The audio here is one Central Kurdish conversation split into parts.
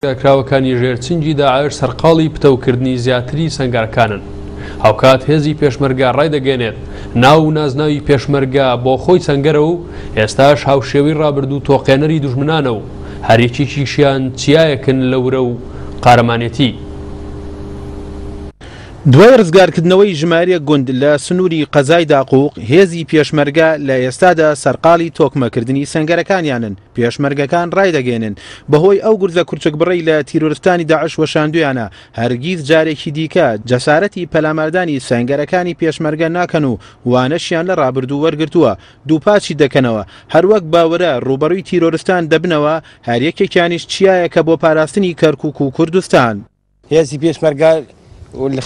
کراوەکانی ژێر چنگی داعش سەرقاڵی پتەوکردنی زیاتری سەنگەرەکانن. هاوکات هێزی پێشمەرگە ڕایدەگەیەنێت، ناو و نازناوی پێشمەرگە بۆ خۆی سەنگەرە و ئێستاش هاوشێوەی ڕابردوو تۆقێنەری دوژمنانە و هەریەکێکیشیان چیایەکن لە ورە و قارەمانێتی. دوای ڕزگارکردنەوەی ژمارەیەک گوند لە سنووری قەزای داقوق، هێزی پێشمەرگە لە ئێستادا سەرقاڵی تۆکمەکردنی سەنگەرەکانیانن. پێشمەرگەکان ڕایدەگەیەنن، بەهۆی ئەو گورزە کورچکبڕەی لە تیرۆرستانی داعش وەشاندوویانە، هەرگیز جارێکی دیکە جەسارەتی پەلاماردانی سەنگەرەکانی پێشمەرگە ناکەن و وانەشیان لە ڕابردوو وەرگرتووە، دووپاتی دەکەنەوە، هەروەک بە ورە ڕووبەڕووی تیرۆرستان دەبنەوە، هەریەکێکیانیش چیایەکە بۆ پاراستنی کەرکوک و کوردستان. هێزی پێشمەرگە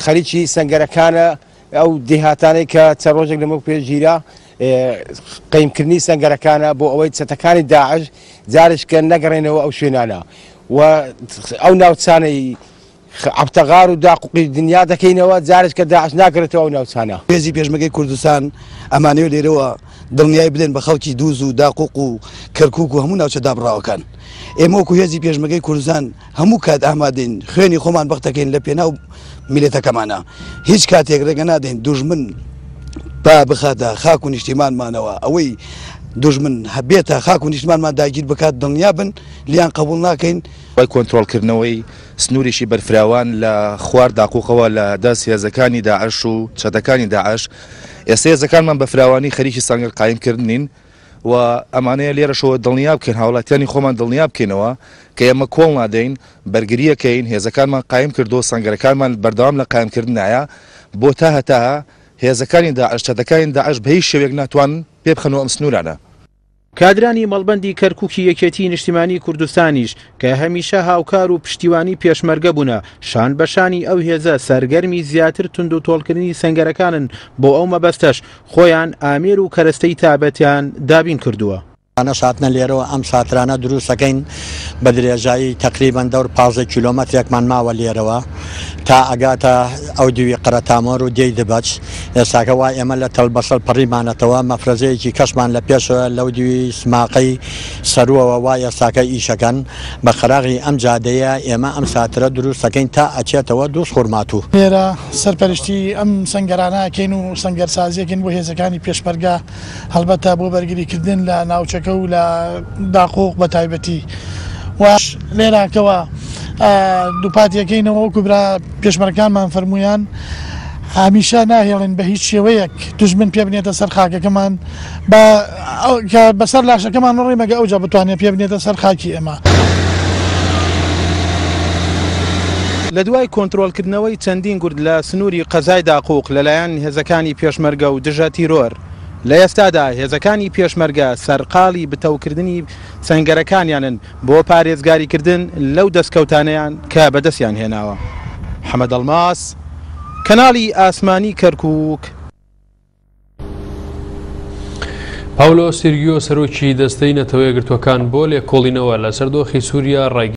خەریکی سەنگەرەکانە، ئەو دێهاتانەی کە چەند ڕۆژێک لەمەو پێش گیرا قەیمکردنی سەنگەرەکانە بۆ ئەوەی چەتەکانی داعش جارێکە نەگەڕێنەوە ئەو شوێنانە و ئەو ناوچانەی عەبتەغار و داقوقی دنیا دەکەینەوە جارێکە داعش ناگەڕێتەوە ئەو ناوچانە. هێزی پێشمەرگەی کوردستان ئەمانەوێت لێرەوە دڵنیایی بدەین بە خەڵکی دووز و داقوق و کەرکوک و هەموو ناوچە دابڕاوەکان. ئێمە وەکو هێزی پێشمەرگەی کوردستان هەموو کات ئامادەین خوێنی خۆمان بەخت دەکەین لە پێناو میللەتەکەمانا. هیچ کاتێک ڕێگە نادەین دوژمن پا بخاتە خاک و نیشتیمانمانەوە. ئەوەی دوژمن بێتە خاک و نیشتمانمان داگیر بکات دڵنیا بن لێیان قبوڵ ناکەین. دوای کۆنترۆڵکردنەوەی سنوورێکی بەرفراوان لە خوار داقوقەوە لە دەست هێزەکانی داعش و چەتەکانی داعش، ئێستا هێزەکانمان بە فراوانی خەریکی سەنگەر قایمکردنین و ئەمانەیە لێرەشەوە دڵنیا بکەین هاوڵاتیانی خۆمان دڵنیا بکەینەوە کە ئێمە کۆڵ نادەین، بەرگرییەکەین، هێزەکانمان قایم کردووە، سەنگەرەکانمان بەردەوام لە قایمکردنایە بۆ تا هەتاهە هێزەکانی داعش، چەتەکانی داعش بە هیچ شێوەیەک ناتوانن پێ بخەنەوە ئەم سنوورانە. کادرانی مەڵبەندی کەرکوکی یەکێتیی نیشتیمانیی کوردستانیش کە هەمیشە هاوکار و پشتیوانی پێشمەرگە بوونە، شان بە شانی ئەو هێزە سەرگەرمی زیاتر توندوتۆڵکردنی سەنگەرەکانن، بۆ ئەو مەبەستەش خۆیان ئامێر و کەرەستەی تابەتیان دابین کردووە. ئەوانەش هاتنە لێرەوە ئەم ساترانە دروست ئەکەین بە درێژایی تەقریبەن دەور 15 کیلۆمەترێکمان ماوە لێرەوە تا ئەگاتە ئەو دیوی قەرەتامۆر و دێی دبەچ ئێستاکە وا ئێمە لە تەلبەسەڵ پەڕیمانەتەوە مەفرەزەیەکی کەشمان لە پێشەوە لەو دیوی سماقەی سەرووەوە وا ئێستاکە ئیشەکەن بە قەراغی ئەم جادەیە ئێمە ئەم ساترە دروست ئەکەین تا ئەچێتەوە دووزخورماتوو. لێرە سەرپەرشتی ئەم سەنگەرانە ئەکەین و سەنگەرسازی ئەکەین بۆ هێزەکانی پێشمەرگە هەڵبەتە بۆ بەرگریکردن لە ناوچەکە و لە داقوق بە تایبەتی و لێراکەوە دووپاتی ئەکەینەوە وەکو برا پێشمەرگەکانمان فەرموویان هەمیشە ناهێڵین بە هیچ شێوەیەک دوژمن پێ بنێتە سەر خاکەکەمان بە کە بەسەر لاشەکەمان ڕۆی مەگە ئەوجا بتوانێت پێ بنێتە سەر خاکی ئێمە. لە دوای کۆنترۆڵکردنەوەی چەندین گورد لە سنووری قەزای داقوق لەلایەن هێزەکانی پێشمەرگە و دژە تیرۆر، لە ئێستادا هێزەکانی پێشمەرگە سەرقاڵی بتەوکردنی سەنگەرەکانیانن بۆ پارێزگاریکردن لەو دەستکەوتانەیان کە بەدەستیان هێناوە. حەمە دەڵماس، کەناڵی ئاسمانی کەرکووک. پاولۆ سیرگیۆ سەرۆکی دەستەی نەتەوە یەکگرتووەکان بۆ لێکۆڵینەوە لەسەر دۆخی سووریا ڕای.